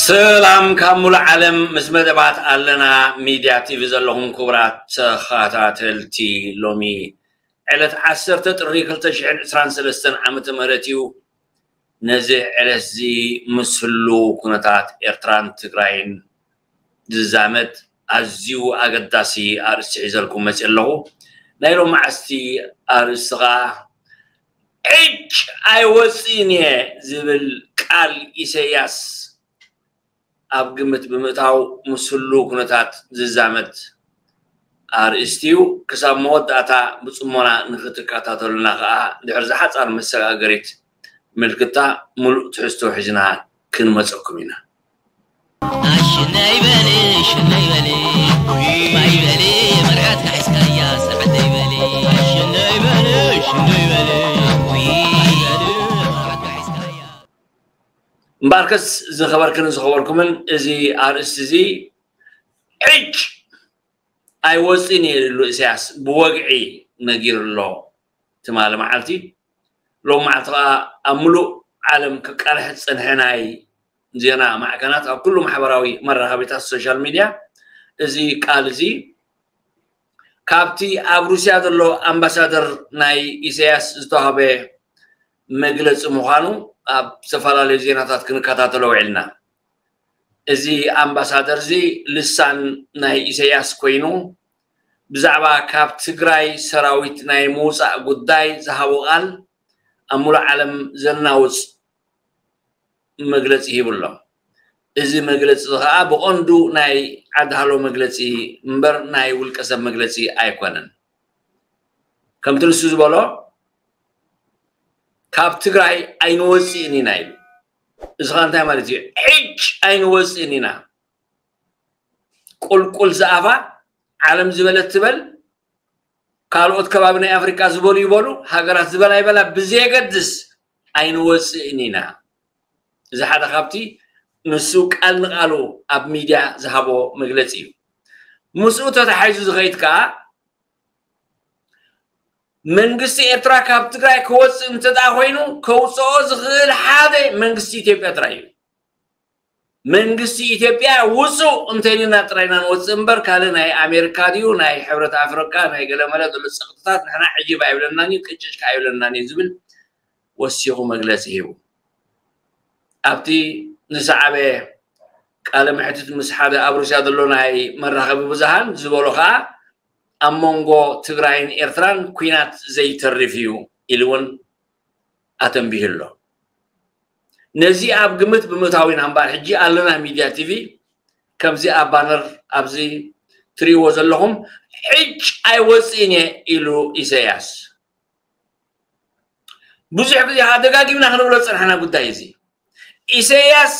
ሰላም ካብ ሙሉእ ዓለም፣ ምስ መደባት ኣለና ሚድያ ቲቪ ዘለኹም ክቡራት ተኸታተልቲ፣ ሎሚ ዕለት ዓሰርተ ጥሪ ክልተ ሽሕን ዕስራን ሰለስተን ዓመተ ምህረት እዩ። ነዚ ዕለት እዚ ምስ ህሉ ኩነታት ኤርትራን ትግራይን ዝዛመድ ኣዝዩ ኣገዳሲ ኣርእስቲ ሒዘልኩም መፅእ ኣለኹ። ናይ ሎማዓስቲ ኣርእስቲ ኸዓ፣ ዕጭ ኣይወፅእን እየ ዝብል ቃል ኢሰያስ ኣብ ግምት ብምእታው፣ ምስ ህሉ ኩነታት ዝዛመድ ኣርእስቲ እዩ። ክሳብ መወዳእታ ብፅሞና ንክትከታተሉና ከዓ ድሕሪ ዝሓፃር መሰጋገሪት ምልክታ፣ ሙሉእ ትሕዝቶ ሒዝና ክንመፀኩም ኢና። ኣሽነይ በሊ ሽነይ በሊ፣ ባይ በሊ፣ መርዓት ካሒስካያ ሰዓደይ በሊ። ኣሽነይ በሊ ሽነይ በሊ፣ ባይ በሊ፣ መርዓት ካሒስካያ። እምበኣርከስ ዝኸበርክን ዝኸበርኩምን፣ እዚ ኣርእስቲ እዚ ዕጭ ኣይወፅእን እየ ኢሉ ኢሳያስ ብወግዒ ነጊሩ ኣሎ። ትማሊ መዓልቲ፣ ሎም መዓልቲ ከዓ ኣብ ሙሉእ ዓለም ክቃልሕ ዝፀንሐ ናይ ዜና ማዕከናት፣ ኣብ ኩሉ ማሕበራዊ መራኸቢታት፣ ሶሻል ሚድያ፣ እዚ ቃል እዚ ካብቲ ኣብ ሩስያ ዘሎ ኣምባሳደር ናይ ኢሳያስ ዝተዋህበ መግለፂ ምዃኑ ኣብ ዝተፈላለዩ ዜናታት ክንከታተሎ ውዒልና። እዚ ኣምባሳደር እዚ ልሳን ናይ ኢሳያስ ኮይኑ፣ ብዛዕባ ካብ ትግራይ ሰራዊት ናይ ምውፃእ ጉዳይ ዝሃቦ ቃል ኣብ ሙሉእ ዓለም ዘናውፅ መግለፂ ሂቡ ኣሎ። እዚ መግለፂ እዚ ከዓ ብቐንዱ ናይ ዓዲ ሃሎ መግለፂ እምበር ናይ ውልቀ ሰብ መግለፂ ኣይኮነን። ከምቲ ንሱ ዝበሎ፣ ካብ ትግራይ ኣይንወፅእን ኢና ኢሉ። እዚ ከዓ እንታይ ማለት እዩ? ዕጭ ኣይንወፅእን ኢና። ቁልቁል ዝኣፋ፣ ዓለም ዝበለት ትበል፣ ካልኦት ከባቢ ናይ ኣፍሪቃ ዝበሉ ይበሉ፣ ሃገራት ዝበላ ይበላ ብዘየገድስ፣ ኣይንወፅእን ኢና። እዚ ሓደ ካብቲ ንሱ ቃል ንቃሉ ኣብ ሚድያ ዝሃቦ መግለፂ እዩ። ምስኡ ተታሒዙ ዝኸይድ ከዓ፣ መንግስቲ ኤርትራ ካብ ትግራይ ክወፅእ እንተ ደኣ ኮይኑ፣ ከውፅኦ ዝኽእል ሓደ መንግስቲ ኢትዮጵያ ጥራይ እዩ። መንግስቲ ኢትዮጵያ ውፁ እንተኢሉና ጥራይ ኢና ንወፅእ እምበር፣ ካልእ ናይ ኣሜሪካ ድዩ፣ ናይ ሕብረት ኣፍሪቃ፣ ናይ ገለመለ ዘሎ ጸቕጥታት ንሕና ዕጅብ ኣይብለናን እዩ፣ ቅጭጭ ከኣ ኣይብለናን እዩ ዝብል ወሲኹ መግለጺ ሂቡ። ኣብቲ ዝሰዓበ ቃለ መሕትት ምስ ሓደ ኣብ ሩስያ ዘሎ ናይ መራኸቢ ብዙሃን ዝበሎ ከኣ፣ ኣብ መንጎ ትግራይን ኤርትራን ኲናት ዘይተርፍ እዩ ኢሉ እውን ኣተንቢሁ ኣሎ። ነዚ ኣብ ግምት ብምእታው ኢና እምበኣር፣ ሕጂ ኣለና ሚድያ ቲቪ ከምዚ ኣብ ባነር ኣብዚ ትርእይዎ ዘለኹም፣ ዕጭ ኣይወፅእን እየ ኢሉ ኢሳያስ። ብዙሕ ግዜ ከዓ ደጋጊምና ክንብሎ ዝፀናሕና ጉዳይ እዚ። ኢሳያስ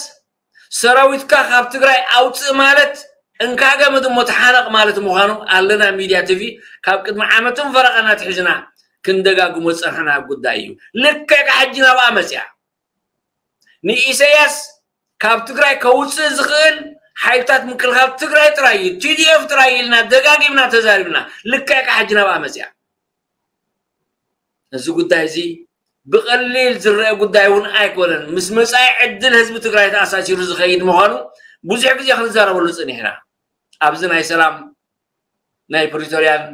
ሰራዊትካ ካብ ትግራይ ኣውፅእ ማለት፣ እንካ ገመድ እሞ ተሓነቕ ማለት ምዃኑ ኣለና ሚድያ ቲቪ ካብ ቅድሚ ዓመትን ፈረቓን ኣትሒዝና ክንደጋግሞ ዝፀናሕና ጉዳይ እዩ። ልክዕ ከዓ ሕጂ ናብኣ መፅያ። ንኢሳያስ ካብ ትግራይ ከውፅእ ዝኽእል ሓይልታት ምክልኻል ትግራይ ጥራይ እዩ፣ ቲ ዲ ኤፍ ጥራይ እዩ ኢልና ደጋጊምና ተዛሪብና። ልክዕ ከዓ ሕጂ ናብኣ መፅያ። እዚ ጉዳይ እዚ ብቐሊል ዝረአ ጉዳይ እውን ኣይኮነን። ምስ መጻኢ ዕድል ህዝቢ ትግራይ ተኣሳሲሩ ዝኸይድ ምዃኑ ብዙሕ ግዜ ክንዛረበሉ ጸኒሕና። ኣብዚ ናይ ሰላም፣ ናይ ፕሪቶርያን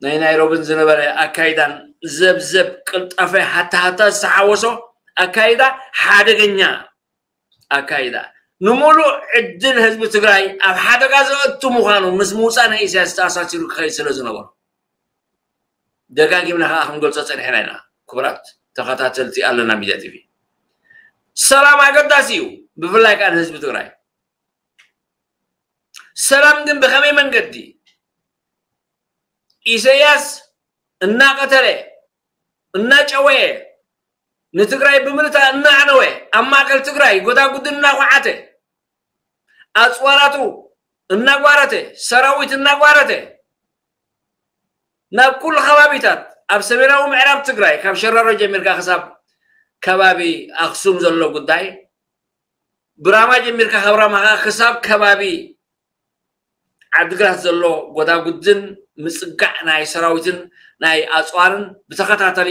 ናይ ናይሮብን ዝነበረ ኣካይዳን ዘብዘብ ቅልጣፈ ሃታሃታ ዝተሓወሶ ኣካይዳ ሓደገኛ ኣካይዳ፣ ንምሉእ ዕድል ህዝቢ ትግራይ ኣብ ሓደጋ ዘእቱ ምዃኑ ምስ ምውፃእ ናይ ኢሳያስ ተኣሳሲሩ ክኸይድ ስለ ዝነበሮ፣ ደጋጊምና ከዓ ክንገልፆ ፀኒሕና ኢና። ክቡራት ተኸታተልቲ ኣለና ሚድያ ቲቪ፣ ሰላም ኣገዳሲ እዩ፣ ብፍላይ ከዓ ንህዝቢ ትግራይ። ሰላም ግን ብኸመይ መንገዲ? ኢሰያስ እናቐተለ እናጨወየ ንትግራይ ብምልታ እናዕነወ ኣብ ማእከል ትግራይ ጎዳጉዲ እናኳዓተ ኣፅዋራቱ እናጓረተ ሰራዊት እናጓረተ ናብ ኩሉ ከባቢታት ኣብ ሰሜናዊ ምዕራብ ትግራይ ካብ ሸራሮ ጀሚርካ ክሳብ ከባቢ ኣክሱም ዘሎ ጉዳይ ብራማ ጀሚርካ ካብ ራማ ከዓ ክሳብ ከባቢ ዓድግራት ዘሎ ጎዳጉድን ምፅጋዕ ናይ ሰራዊትን ናይ ኣፅዋርን ብተኸታተሊ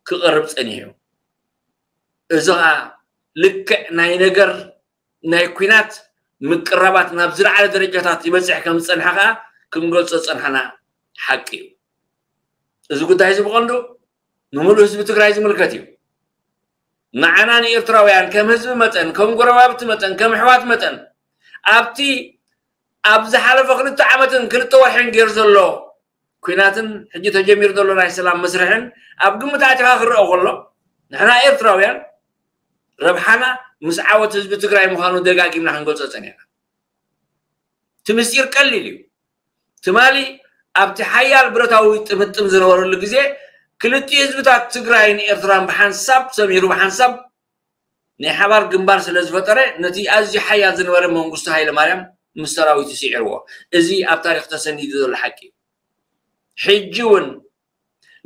ክቐርብ ፀኒሑ እዩ። እዚ ከዓ ልክዕ ናይ ነገር ናይ ኲናት ምቅራባት ናብ ዝለዓለ ደረጃታት ይበፅሕ ከም ዝፀንሐ ከዓ ክንገልፆ ዝፀንሐና ሓቂ እዩ። እዚ ጉዳይ እዚ ብቐንዱ ንምሉእ ህዝቢ ትግራይ ዝምልከት እዩ። ንዓና ንኤርትራውያን ከም ህዝቢ መጠን ከም ጎረባብቲ መጠን ከም ኣሕዋት መጠን ኣብቲ ኣብ ዝሓለፈ ክልተ ዓመትን ክልተ ወርሕን ገይሩ ዘሎ ኲናትን ሕጂ ተጀሚሩ ዘሎ ናይ ሰላም መስርሕን ኣብ ግምት ኣቲኻ ክረአ ከሎ ንሕና ኤርትራውያን ረብሓና ምስ ዓወት ህዝቢ ትግራይ ምዃኑ ደጋጊምና ክንገልጾ ጸኒሕና። እቲ ምስጢር ቀሊል እዩ። ትማሊ ኣብቲ ሓያል ብረታዊ ጥምጥም ዝነበረሉ ግዜ ክልቲኡ ህዝብታት ትግራይን ኤርትራን ብሓንሳብ ሰሚሩ ብሓንሳብ ናይ ሓባር ግንባር ስለ ዝፈጠረ ነቲ ኣዝዩ ሓያል ዝነበረ መንግስቱ ሃይለማርያም ምስ ሰራዊቱ ስዒርዎ። እዚ ኣብ ታሪክ ተሰኒዱ ዘሎ ሓቂ እዩ። ሕጂ እውን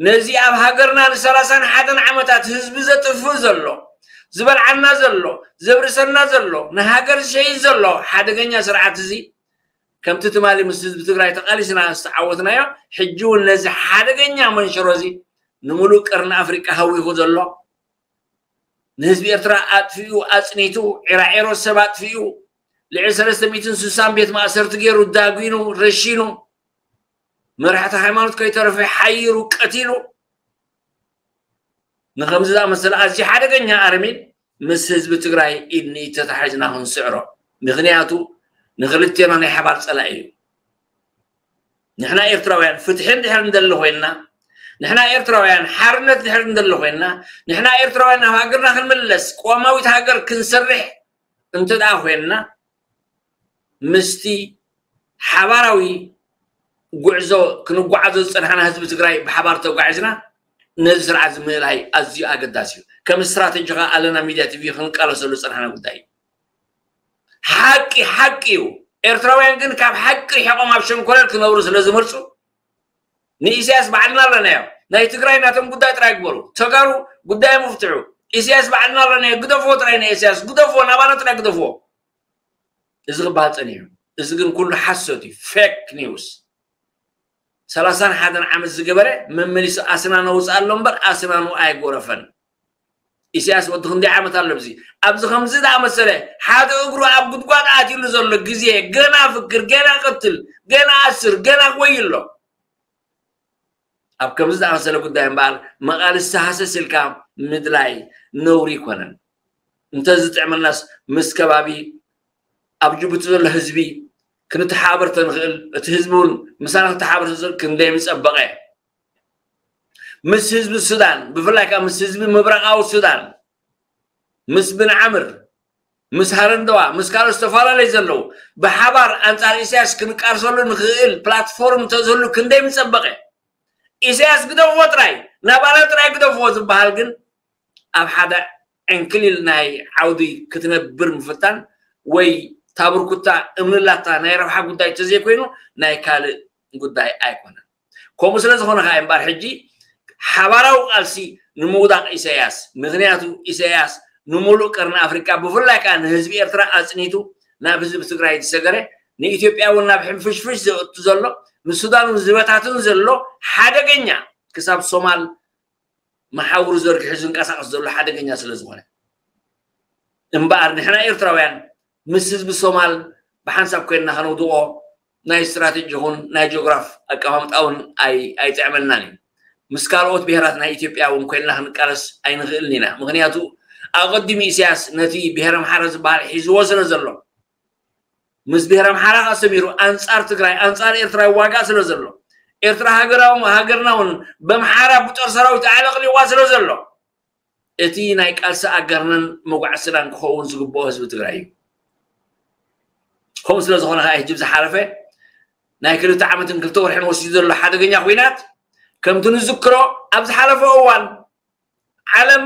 ነዚ ኣብ ሃገርና ንሰላሳን ሓደን ዓመታት ህዝቢ ዘጥፍእ ዘሎ ዝበልዓና ዘሎ ዘብርሰና ዘሎ ንሃገር ዝሸይጥ ዘሎ ሓደገኛ ስርዓት እዚ ከምቲ ትማሊ ምስ ህዝቢ ትግራይ ተቃሊስና ዝተዓወትናዮ ሕጂ እውን ነዚ ሓደገኛ መንሸሮ እዚ ንምሉእ ቀርኒ ኣፍሪቃ ሃዊኹ ዘሎ ንህዝቢ ኤርትራ ኣጥፊኡ ኣጽኒቱ ዒራዒሮ ሰብ ኣጥፊኡ ልዕሊ ሰለስተ ሚእትን ስሳን ቤት ማእሰርቲ ገይሩ ዳጒኑ ረሺኑ መራሕቲ ሃይማኖት ከይተረፈ ሓይሩ ቀቲሉ ንከምዚ ዝኣመሰለ ኣዝዩ ሓደገኛ ኣረሚን ምስ ህዝቢ ትግራይ ኢድ ንኢድ ተታሒዝና ክንስዕሮ ምክንያቱ ንክልቴና ናይ ሓባር ፀላኢ እዩ። ንሕና ኤርትራውያን ፍትሒ እንድሕር እንደሊ ኮይንና ንሕና ኤርትራውያን ሓርነት እንድሕር እንደሊ ኮይንና ንሕና ኤርትራውያን ናብ ሃገርና ክንምለስ ቅዋማዊት ሃገር ክንሰርሕ እንተ ደኣ ኮይንና ምስቲ ሓባራዊ ጉዕዞ ክንጓዓዞ ዝፀናሕና ህዝቢ ትግራይ ብሓባር ተጓዒዝና ነዚ ስርዓት እዚ ምእላይ ኣዝዩ ኣገዳሲ እዩ። ከም ስትራተጂ ከዓ ኣለና ሚድያ ቲቪ ክንቃለሰሉ ዝፀናሕና ጉዳይ እዩ። ሓቂ ሓቂ እዩ። ኤርትራውያን ግን ካብ ሓቂ ርሒቖም ኣብ ሸንኮለል ክነብሩ ስለ ዝመርፁ ንኢሳያስ ባዕልና ኣለናዮ። ናይ ትግራይ ናቶም ጉዳይ ጥራይ ግበሩ። ተጋሩ ጉዳዮም ይፍትሑ። ኢሳያስ ባዕልና ኣለናዮ። ግደፍዎ ጥራይ ንኢሳያስ ግደፍዎ፣ ናባና ጥራይ ግደፍዎ። እዚ ክበሃል ፀኒሑ። እዚ ግን ኩሉ ሓሶት እዩ፣ ፌክ ኒውስ። ሰላሳን ሓደን ዓመት ዝገበረ መመሊሱ ኣስናኑ ኣውፅኣሎ እምበር ኣስናኑ ኣይጎረፈን። ኢሳያስ ወዲ ክንደይ ዓመት ኣሎ ኣብዚ ኣብዚ ከምዚ ዝኣመሰለ ሓደ እግሩ ኣብ ጉድጓድ ኣትዩሉ ዘሎ ግዜ ገና ፍክር ገና ቅትል ገና ኣስር ገና ክወይ ኣሎ። ኣብ ከምዚ ዝኣመሰለ ጉዳይ እምበኣር መቓልስቲ ሃሰስ ኢልካ ምድላይ ነውሪ ኣይኮነን። እንተዝጥዕመናስ ምስ ከባቢ ኣብ ጅቡቲ ዘሎ ህዝቢ ክንተሓባበር ተንኽእል፣ እቲ ህዝቢ እውን ምሳና ክተሓባበር ተዝኽእል ክንደይ ምጸበቐ። ምስ ህዝቢ ሱዳን ብፍላይ ከዓ ምስ ህዝቢ ምብራቓዊ ሱዳን ምስ ብንዓምር ምስ ሃረንደዋ ምስ ካልኦት ዝተፈላለዩ ዘለዉ ብሓባር ኣንጻር ኢሳያስ ክንቃርሰሉ ንኽእል ፕላትፎርም እንተዝህሉ ክንደይ ምጸበቐ። ኢሳያስ ግደፍዎ ጥራይ ናባና ጥራይ ግደፍዎ ዝበሃል ግን ኣብ ሓደ ዕንክሊል ናይ ዓውዲ ክትነብር ምፍታን ወይ ታብርኩታ እምንላታ ናይ ረብሓ ጉዳይ ተዘይኮይኑ ናይ ካልእ ጉዳይ ኣይኮነን። ከምኡ ስለ ዝኾነ ከዓ እምበኣር ሕጂ ሓባራዊ ቃልሲ ንምውዳቕ ኢሳያስ ምክንያቱ ኢሳያስ ንምሉእ ቀርኒ ኣፍሪቃ ብፍላይ ከዓ ንህዝቢ ኤርትራ ኣፅኒቱ ናብ ህዝቢ ትግራይ ዝሰገረ ንኢትዮጵያ እውን ናብ ሕንፍሽፍሽ ዘእቱ ዘሎ ንሱዳን እውን ዝበታትን ዘሎ ሓደገኛ ክሳብ ሶማል መሓውሩ ዘርጊሑ ዝንቀሳቐስ ዘሎ ሓደገኛ ስለ ዝኾነ እምበኣር ንሕና ኤርትራውያን ምስ ህዝቢ ሶማል ብሓንሳብ ኮይንና ከነውድቖ ናይ ስትራቴጂ ይኹን ናይ ጂኦግራፍ ኣቀማምጣ እውን ኣይጥዕመልናን እዩ። ምስ ካልኦት ብሄራት ናይ ኢትዮጵያ እውን ኮይንና ክንቃለስ ኣይንኽእልን ኢና። ምክንያቱ ኣቐዲሙ ኢሳያስ ነቲ ብሄረ ኣምሓራ ዝበሃል ሒዝዎ ስለ ዘሎ ምስ ብሄር ኣምሓራ ከኣ ሰሚሩ ኣንጻር ትግራይ ኣንጻር ኤርትራ ይዋጋእ ስለ ዘሎ ኤርትራ ሃገራዊ ሃገርና እውን በምሓራ ብጦር ሰራዊት ኣዕለቕሊዋ ስለ ዘሎ እቲ ናይ ቃልሲ ኣጋርነን መጓዕስናን ክኸውን ዝግብኦ ህዝቢ ትግራይ እዩ። ከምኡ ስለ ዝኾነ ከዓ ህጂ ዝሓለፈ ናይ ክልተ ዓመትን ክልተ ወርሕን ወሲዱ ዘሎ ሓደገኛ ኲናት፣ ከምቲ ንዝክሮ ኣብ ዝሓለፈ እዋን ዓለም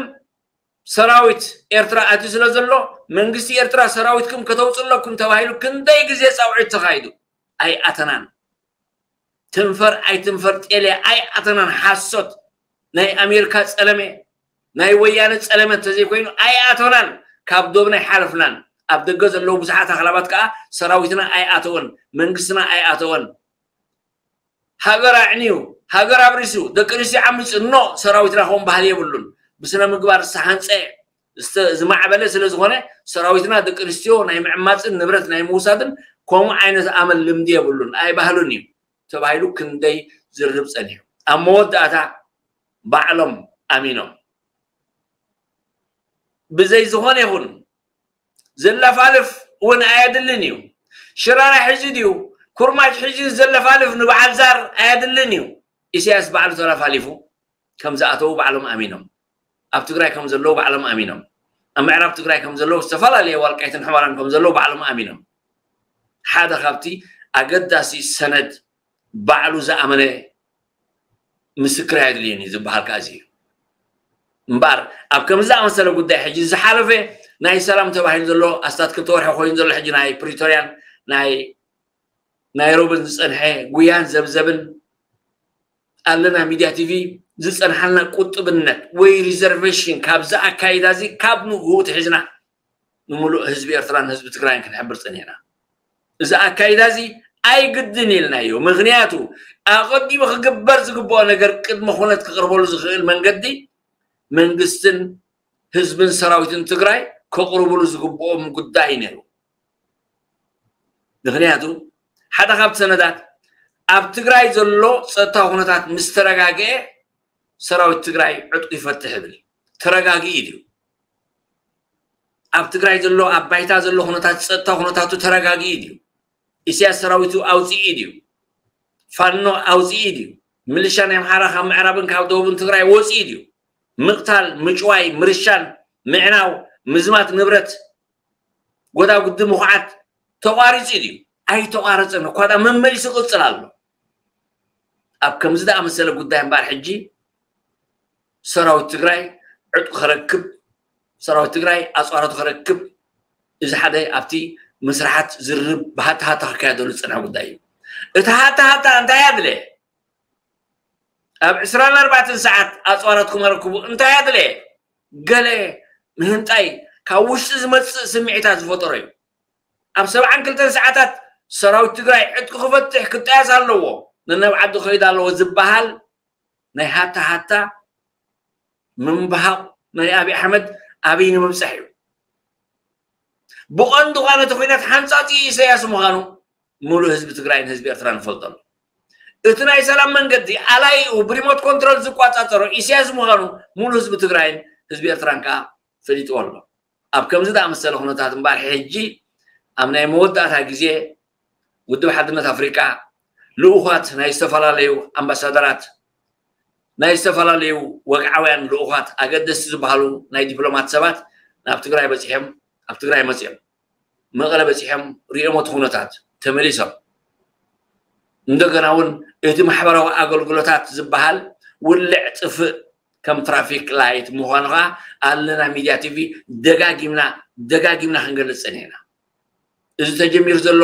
ሰራዊት ኤርትራ ኣትዩ ስለ ዘሎ፣ መንግስቲ ኤርትራ ሰራዊትኩም ከተውፅለኩም ተባሂሉ ክንደይ ግዜ ፃውዒት ተኻይዱ? ኣይኣተናን። ትንፈር ኣይትንፈር ጤልያ ኣይኣተናን። ሓሶት። ናይ ኣሜሪካ ጸለመ፣ ናይ ወያነ ጸለመ እንተዘይኮይኑ ኣይኣተናን። ካብ ዶብና ኣይሓለፍናን። ኣብ ደገ ዘለዉ ብዙሓት ኣኽላባት ከኣ ሰራዊትና ኣይኣተወን፣ መንግስትና ኣይኣተወን። ሃገር ኣዕንዩ፣ ሃገር ኣብሪሱ፣ ደቂ ኣንስትዮ ዓሚጹ፣ ኖ፣ ሰራዊትና ከምኡ ባህሊ የብሉን። ብስነ ምግባር ዝተሃንጸ፣ ዝተ-፣ ዝማዕበለ ስለ ዝኾነ፣ ሰራዊትና ደቂ ኣንስትዮ ናይ ምዕማጽን ንብረት ናይ ምውሳድን ከምኡ ዓይነት ኣመል ልምዲ የብሉን፣ ኣይባህሉን እዩ ተባሂሉ ክንደይ ዝርርብ ጸኒሑ። ኣብ መወዳእታ ባዕሎም ኣሚኖም። ብዘይ ዝኾነ ይኹን ዘለፋልፍ እውን ኣየድልን እዩ። ሽራራ ሒዙ ድዩ፣ ኩርማጅ ሒዙ ዘለፋልፍ ንበዓል ዛር ኣየድልን እዩ። ኢሳያስ ባዕሉ ተላፋሊፉ ከም ዝኣተዉ ባዕሎም ኣሚኖም። ኣብ ትግራይ ከም ዘለዉ ባዕሎም ኣሚኖም። ኣብ ምዕራብ ትግራይ ከም ዘለዉ፣ ዝተፈላለየ ዋልቃይትን ሕመራን ከም ዘለዉ ባዕሎም ኣሚኖም። ሓደ ካብቲ ኣገዳሲ ሰነድ ባዕሉ ዝኣመነ ምስክር ኣየድልዮን እዩ ዝበሃል ከኣ እዚ እዩ። እምበኣር ኣብ ከምዚ ዝኣመሰለ ጉዳይ ሕጂ ዝሓለፈ ናይ ሰላም ተባሂሉ ዘሎ ኣስታት ክልተ ወርሒ ኮይኑ ዘሎ ሕጂ ናይ ፕሪቶርያን ናይ ናይሮብን ዝጸንሐ ጉያን ዘብዘብን ኣለና ሚድያ ቲቪ ዝጸንሓልና ቁጥብነት ወይ ሪዘርቬሽን ካብዚ ኣካይዳ እዚ ካብ ንግሆ ትሒዝና ንምሉእ ህዝቢ ኤርትራን ህዝቢ ትግራይን ክንሕብር ጸኒሕና። እዚ ኣካይዳ እዚ ኣይግድን ኢልናዮ። ምኽንያቱ ኣቐዲሙ ክግበር ዝግብኦ ነገር ቅድመ ኩነት ክቕርበሉ ዝኽእል መንገዲ መንግስትን ህዝብን ሰራዊትን ትግራይ ከቕርብሉ ዝግብኦም ጉዳይ ነይሩ። ምኽንያቱ ሓደ ካብቲ ሰነዳት ኣብ ትግራይ ዘሎ ጸጥታዊ ኩነታት ምስ ተረጋግአ ሰራዊት ትግራይ ዕጥቁ ይፈትሕ ይብል። ተረጋጊኡ ድዩ? ኣብ ትግራይ ዘሎ ኣብ ባይታ ዘሎ ኩነታት ጸጥታ ኩነታቱ ተረጋጊኡ ድዩ? ኢሳያስ ሰራዊቱ ኣውፂኡ ድዩ? ፋኖ ኣውፂኡ ድዩ? ምልሻ ናይ ኣምሓራ ካብ ምዕራብን ካብ ደቡብን ትግራይ ወፂኡ ድዩ? ምቕታል፣ ምጭዋይ፣ ምርሻን፣ ምዕናው፣ ምዝማት ንብረት፣ ጎዳጉዲ፣ ምኹዓት ተቋሪፁ ድዩ? ኣይተቋረፀን። እኳ ዳ መመሊሱ ይቕፅል ኣሎ። ኣብ ከምዚ ዝኣመሰለ ጉዳይ እምበኣር ሕጂ ሰራዊት ትግራይ ዕጥቁ ከረክብ፣ ሰራዊት ትግራይ ኣፅዋራቱ ከረክብ፣ እዚ ሓደ ኣብቲ መስርሓት ዝርርብ ብሃታሃታ ክካየደሉ ዝፀንሐ ጉዳይ እዩ። እቲ ሃታሃታ እንታይ ኣድለ? ኣብ ዕስራን ኣርባዕተን ሰዓት ኣፅዋራትኩም ኣረክቡ እንታይ ኣድለ? ገለ ምህንጣይ ካብ ውሽጢ ዝመፅእ ስምዒታት ዝፈጠሮ እዩ። ኣብ ሰብዓን ክልተን ሰዓታት ሰራዊት ትግራይ ዕጥቁ ክፈትሕ ክጣየስ ኣለዎ፣ ነናብ ዓዱ ክኸይድ ኣለዎ ዝበሃል ናይ ሃታ ሃታ ምንባሃቕ ናይ ኣብይ ኣሕመድ ኣብይ ንምብፃሕ እዩ። ብቐንዱ ኸዓ ነቲ ኲናት ሓንፃፂ ኢሳያስ ምዃኑ ሙሉእ ህዝቢ ትግራይን ህዝቢ ኤርትራን ይፈልጦ ኣሎ። እቲ ናይ ሰላም መንገዲ ኣላይኡ ብሪሞት ኮንትሮል ዝቋፃፀሮ ኢሳያስ ምዃኑ ሙሉእ ህዝቢ ትግራይን ህዝቢ ኤርትራን ከዓ ፈሊጥዎ ኣሎ። ኣብ ከምዚ ዝኣመሰለ ኩነታት እምበኣር ሕጂ ኣብ ናይ መወዳእታ ግዜ ውድብ ሓድነት ኣፍሪቃ ልኡኻት ናይ ዝተፈላለዩ ኣምባሳደራት ናይ ዝተፈላለዩ ወግዓውያን ልኡኻት ኣገደስቲ ዝበሃሉ ናይ ዲፕሎማት ሰባት ናብ ትግራይ በፂሖም ኣብ ትግራይ መፂኦም መቐለ በፂሖም ሪኦም እቲ ኩነታት ተመሊሶም። እንደገና እውን እቲ ማሕበራዊ ኣገልግሎታት ዝበሃል ውልዕ ጥፍእ ከም ትራፊክ ላይት ምዃኑ ከዓ ኣለና ሚድያ ቲቪ ደጋጊምና ደጋጊምና ክንገልፅ ፀኒሕና። እዚ ተጀሚሩ ዘሎ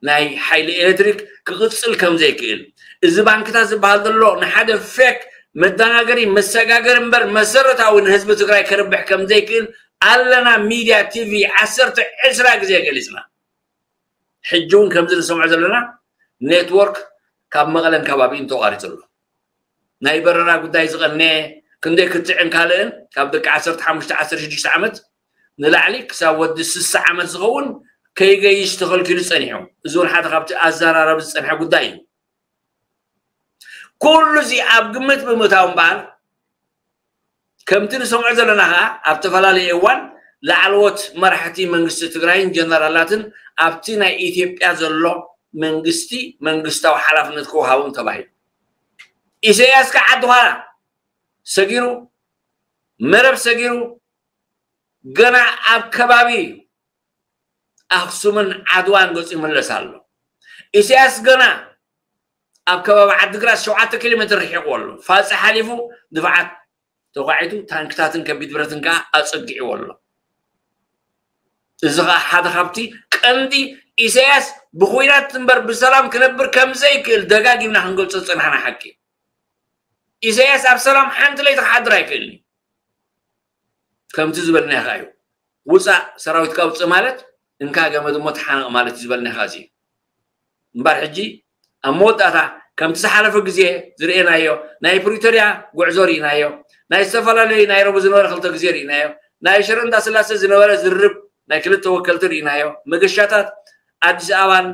ናይ ሓይሊ ኤሌክትሪክ ክቕፅል ከም ዘይክእል፣ እዚ ባንክታት ዝበሃል ዘሎ ንሓደ ፌክ መደናገሪ መሰጋገሪ እምበር መሰረታዊ ንህዝቢ ትግራይ ከርብሕ ከም ዘይክእል ኣለና ሚድያ ቲቪ ዓሰርተ ዕስራ ግዜ ገሊፅና። ሕጂ እውን ከምዚ ንሰምዖ ዘለና ኔትወርክ ካብ መቐለን ከባቢኡን ተቋሪፁ ኣሎ። ናይ በረራ ጉዳይ ዝቐነየ ክንደይ ክትዕን ካልእን ካብ ደቂ ዓሰርተ ሓሙሽተ ዓሰርተ ሽዱሽተ ዓመት ንላዕሊ ክሳብ ወዲ ስሳ ዓመት ዝኸውን ከይገይሽ ተኸልኪሉ ጸኒሑ። እዚ እውን ሓደ ካብቲ ኣዘራረቢ ዝጸንሐ ጉዳይ እዩ። ኩሉ እዚ ኣብ ግምት ብምእታው እምበኣር ከምቲ ንሰምዖ ዘለና ኸዓ ኣብ ዝተፈላለዩ እዋን ላዕለዎት መራሕቲ መንግስቲ ትግራይን ጀነራላትን ኣብቲ ናይ ኢትዮጵያ ዘሎ መንግስቲ መንግስታዊ ሓላፍነት ክወሃቦም ተባሂሉ። ኢሳያስ ከዓ ዓዲ ዃላ ሰጊሩ መረብ ሰጊሩ ገና ኣብ ከባቢ ኣኽሱምን ዓድዋን ገፁ ይምለስ ኣሎ። ኢሳያስ ገና ኣብ ከባቢ ዓድግራት ሸውዓተ ኪሎ ሜትር ርሒቑ ኣሎ። ፋፂ ሓሊፉ ድፋዓት ተኳዒቱ ታንክታትን ከቢድ ብረትን ከዓ ኣፀጊዕዎ ኣሎ። እዚ ከዓ ሓደ ካብቲ ቀንዲ ኢሳያስ ብኩናት እምበር ብሰላም ክነብር ከም ዘይክእል ደጋጊምና ክንገልፆ ዝፀናሕና ሓቂ። ኢሳያስ ኣብ ሰላም ሓንቲ ለይቲ ክሓድር ኣይክእልን እዩ። ከምቲ ዝበልናዮ ከዓ እዩ። ውፃእ ሰራዊትካ ውፅእ ማለት እንካ ገመድ እሞ ተሓነቕ ማለት እዩ ዝበልናዮ ከዓ እዚ እዩ። እምበር ሕጂ ኣብ መወዳእታ ከምቲ ዝሓለፈ ግዜ ዝርእናዮ ናይ ፕሪቶርያ ጉዕዞ ርኢናዮ፣ ናይ ዝተፈላለዩ ናይ ረቡ ዝነበረ ክልተ ግዜ ርኢናዮ፣ ናይ ሽረ እንዳስላሴ ዝነበረ ዝርብ ናይ ክልተ ወከልቲ ርኢናዮ፣ መገሻታት ኣዲስ ኣበባን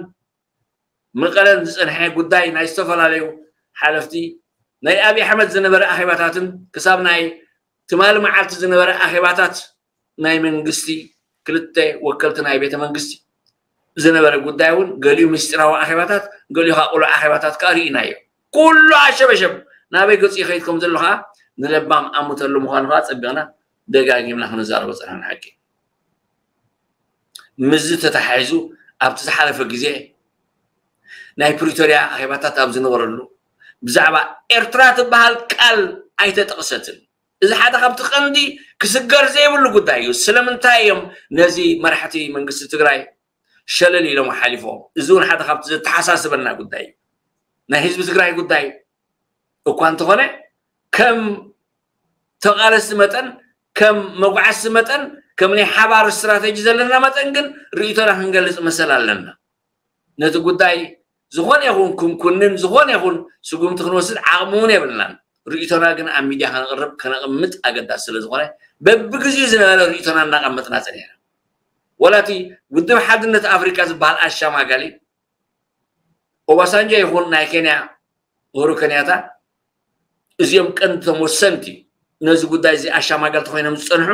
መቐለን ዝፀንሐ ጉዳይ ናይ ዝተፈላለዩ ሓለፍቲ ናይ ኣብይ ኣሕመድ ዝነበረ ኣኼባታትን ክሳብ ናይ ትማሊ መዓልቲ ዝነበረ ኣኼባታት ናይ መንግስቲ ክልተ ወከልቲ ናይ ቤተ መንግስቲ ዝነበረ ጉዳይ እውን ገሊኡ ምስጢራዊ ኣኼባታት ገሊኡ ከዓ ቁሉዕ ኣኼባታት ከዓ ርኢናዮ። ኩሉ ኣሸበሸብ ናበይ ገፁ ይኸይድ ከም ዘሎ ከዓ ንለባም ኣሙተሉ ምዃኑ ከዓ ፀቢቕና ደጋጊምና ክንዛረቦ ፀናሕና ሓቂ። ምስዚ ተተሓሒዙ ኣብቲ ዝሓለፈ ግዜ ናይ ፕሪቶርያ ኣኼባታት ኣብ ዝነበረሉ ብዛዕባ ኤርትራ ትበሃል ቃል ኣይተጠቕሰትን። እዚ ሓደ ካብቲ ቀንዲ ክስገር ዘይብሉ ጉዳይ እዩ። ስለምንታይ እዮም ነዚ መራሕቲ መንግስቲ ትግራይ ሸለል ኢሎም ሓሊፎም? እዚ እውን ሓደ ካብቲ ዘተሓሳስበና ጉዳይ እዩ። ናይ ህዝቢ ትግራይ ጉዳይ እኳ እንተኾነ ከም ተቓለስቲ መጠን ከም መጉዓዝቲ መጠን ከም ናይ ሓባር ስትራተጂ ዘለና መጠን ግን ርእይቶና ክንገልፅ መሰል ኣለና። ነቲ ጉዳይ ዝኾነ ይኹን ክንኩንን ዝኾነ ይኹን ስጉምቲ ክንወስድ ዓቕሚ እውን የብልናን። ርእይቶና ግን ኣብ ሚድያ ከነቕርብ ከነቕምጥ ኣገዳሲ ስለ ዝኾነ በብግዜኡ ዝነበረ ርእይቶና እናቐመጥና ፀኒሕና። ወላ እቲ ውድብ ሓድነት ኣፍሪቃ ዝበሃል ኣሻማጋሊ ኦባሳንጆ ይኹን ናይ ኬንያ ኡሁሩ ከንያታ እዚኦም ቀንዲቶም ወሰንቲ ነዚ ጉዳይ እዚ ኣሻማገልቲ ኮይኖም ዝፀንሑ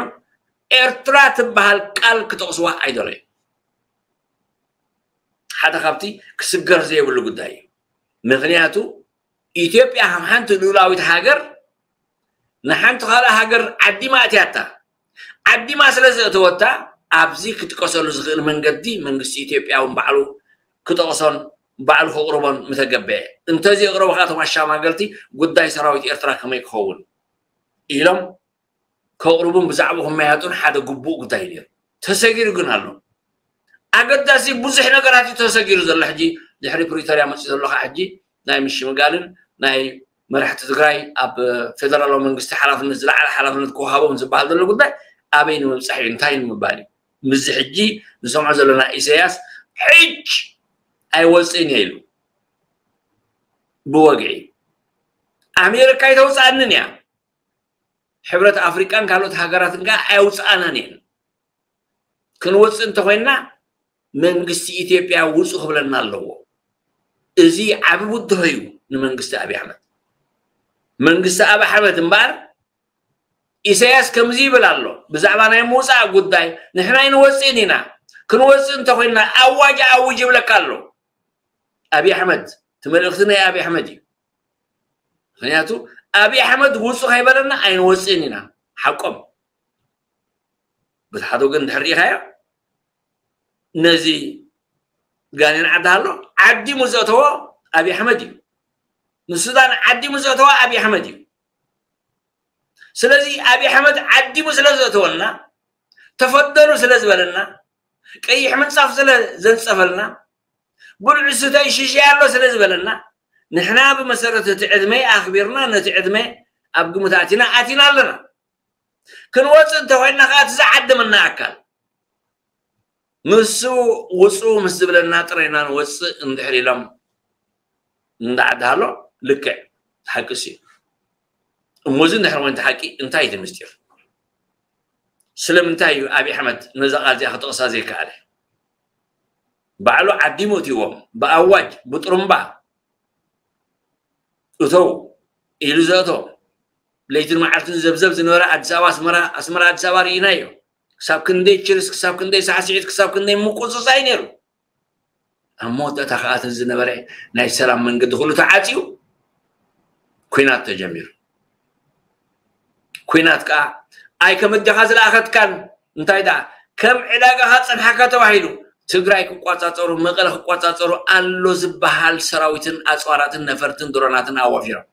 ኤርትራ ትበሃል ቃል ክጠቕስዋ ኣይደለዩ። ሓደ ካብቲ ክስገር ዘይብሉ ጉዳይ እዩ። ምክንያቱ ኢትዮጵያ ከም ሓንቲ ልኡላዊት ሃገር ንሓንቲ ካልእ ሃገር ዓዲማ ኣትያታ። ዓዲማ ስለ ዘእተወታ ኣብዚ ክጥቀሰሉ ዝኽእል መንገዲ መንግስቲ ኢትዮጵያ እውን ባዕሉ ክጠቕሶን ባዕሉ ከቕርቦን ምተገበአ። እንተዘየቕረቡ ከዓ እቶም ኣሻማገልቲ ጉዳይ ሰራዊት ኤርትራ ከመይ ክኸውን ኢሎም ከቕርቡን ብዛዕባ ክመያጡን ሓደ ግቡእ ጉዳይ ነይሩ። ተሰጊሩ ግን ኣሎ። ኣገዳሲ ብዙሕ ነገራት እዩ ተሰጊሩ ዘሎ። ሕጂ ድሕሪ ፕሪቶርያ መፅኡ ዘሎ ከዓ ሕጂ ናይ ምሽምጋልን ናይ መራሕቲ ትግራይ ኣብ ፌደራላዊ መንግስቲ ሓላፍነት ዝለዓለ ሓላፍነት ክወሃቦም ዝበሃል ዘሎ ጉዳይ ኣበይ ንምብፃሕ እዩ እንታይ ንምባል እዩ? ምስዚ ሕጂ ንሰምዖ ዘለና ኢሳያስ ሕጅ ኣይወፅእን እየ ኢሉ ብወግዒ ኣሜሪካ ኣይተውፅኣንን እያ። ሕብረት ኣፍሪቃን ካልኦት ሃገራትን ከዓ ኣየውፅኣናን እየን። ክንወፅእ እንተኮይንና መንግስቲ ኢትዮጵያ ውፁ ክብለና ኣለዎ። እዚ ዓቢ ብድሆ እዩ ንመንግስቲ ኣብይ ኣሕመድ። መንግስቲ ኣብይ ኣሕመድ እምበኣር ኢሳያስ ከምዚ ይብል ኣሎ ብዛዕባ ናይ ምውፃእ ጉዳይ ንሕና ኣይንወፅእን ኢና። ክንወፅእ እንተኮይንና ኣዋጅ ኣውጅ ይብለካ ኣሎ ኣብይ ኣሕመድ። እቲ መልእክቲ ናይ ኣብይ ኣሕመድ እዩ። ምክንያቱ ኣብይ ኣሕመድ ውፁ ከይበለና ኣይንወፅእን ኢና። ሓቆም በቲ ሓደ ወገን ድሕር ርኢኻዮ ነዚ ጋኔን ዓዲ ኣሎ ዓዲሙ ዘእተዎ ኣብይ ኣሕመድ እዩ። ንሱዳን ዓዲሙ ዘእተዎ ኣብይ ኣሕመድ እዩ። ስለዚ ኣብይ ኣሕመድ ዓዲሙ ስለ ዘእተወልና ተፈደሉ ስለ ዝበለና ቀይሕ ምንፃፍ ስለ ዘንፀፈልና ብልዑ ስተይ ሽሻይ ኣሎ ስለ ዝበለና ንሕና ብመሰረት እቲ ዕድመ ኣኽቢርና ነቲ ዕድመ ኣብ ግምት ኣቲና ኣቲና ኣለና። ክንወፅእ እንተኮይንና ከዓ እቲ ዝዓደመና ኣካል ንሱ ውፁ ምስ ዝብለና ጥራይ ኢና ንወፅእ እንድሕር ኢሎም እንዳዓዲ ሃሎ ልክዕ ሓቂ እሱ እዩ። እሞ እዚ እንድሕር ወንቲ ሓቂ እንታይ እቲ ምስጢር? ስለምንታይ እዩ ኣብይ ኣሕመድ ነዛ ቃል እዚኣ ክጠቕሳ ዘይከኣለ? ባዕሉ ዓዲሙ እትዎም ብኣዋጅ ብጥሩምባ እተው ኢሉ ዘእቶ ለይትን መዓልትን ዘብዘብ ዝነበረ ኣዲስ ኣበባ ኣስመራ ኣስመራ ኣዲስ ኣበባ ርኢናዮ። ክሳብ ክንደይ ችርስ ክሳብ ክንደይ ሳዕስዒት ክሳብ ክንደይ ምቁፅፃይ ነይሩ። ኣብ መወዳእታ ከዓ እቲ ዝነበረ ናይ ሰላም መንገዲ ኩሉ ተዓፅዩ ኩናት ተጀሚሩ። ኩናት ከዓ ኣይ ከም ኣዴኻ ዝለኣኸትካን እንታይ ደኣ ከም ዕዳጋኻ ፀንሓካ ተባሂሉ ትግራይ ክቋፃፀሩ፣ መቐለ ክቋፃፀሩ ኣሎ ዝበሃል ሰራዊትን ኣፅዋራትን ነፈርትን ድሮናትን ኣዋፊሮም